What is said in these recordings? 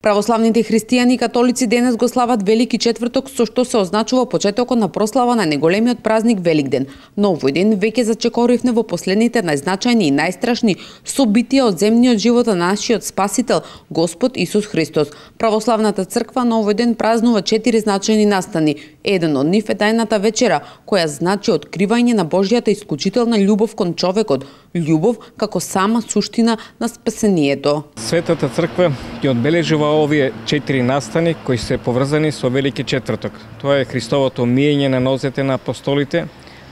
Православните христијани и католици денес го слават Велики четврток, со што се означува почетокот на прослава на најголемиот празник Великден. Но овој ден веќе зачекоривме во последните најзначајни и најстрашни собитија од земниот живот на нашиот Спасител, Господ Исус Христос. Православната црква на овој ден празнува 4 значајни настани. Еден од нив е тајната вечера, која значи откривање на Божјата исклучителна љубов кон човекот, љубов како сама суштина на спасението. Светата црква ги одбележува овие 4 настани кои се поврзани со Велики четврток. Тоа е Христовото миење на нозете на апостолите,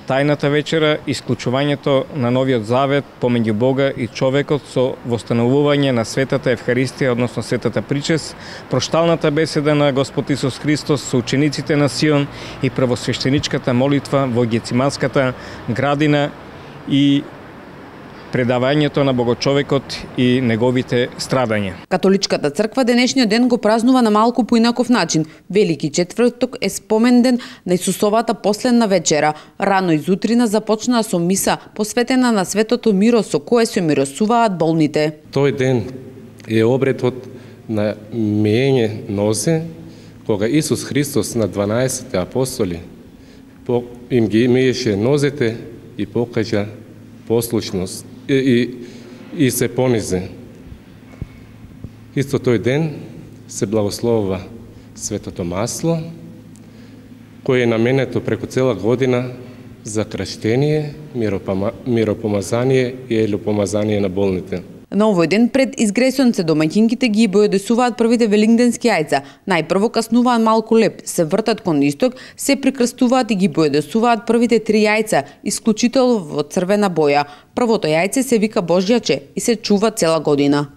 тајната вечера, исклучувањето на новиот завет помеѓу Бога и човекот со востановување на светата Евхаристија, односно светата причест, прошталната беседа на Господ Исус Христос со учениците на Сион и првосвештеничката молитва во Гециманската градина и предавањето на Богочовекот и неговите страдања. Католичката црква денешниот ден го празнува на малку поинаков начин. Велики четврток е споменден на Исусовата последна вечера. Рано изутрина започнаа со миса посветена на светото миро со кое се миросуваат болните. Тој ден е обредот на миење нозе, кога Исус Христос на 12 апостоли им ги миеше нозете и покажа послушност и се понизе. Исто тој ден се благословува светото масло, кое е наменето преку цела година за крштение, миропомазание и елјопомазание на болните. На овој ден пред изгресонце домаќинките ги бојодесуваат првите великденски јајца. Најпрво каснуваат малку леп, се вртат кон исток, се прикрстуваат и ги бојодесуваат првите 3 јајца, исклучително во црвена боја. Првото јајце се вика Божјаче и се чува цела година.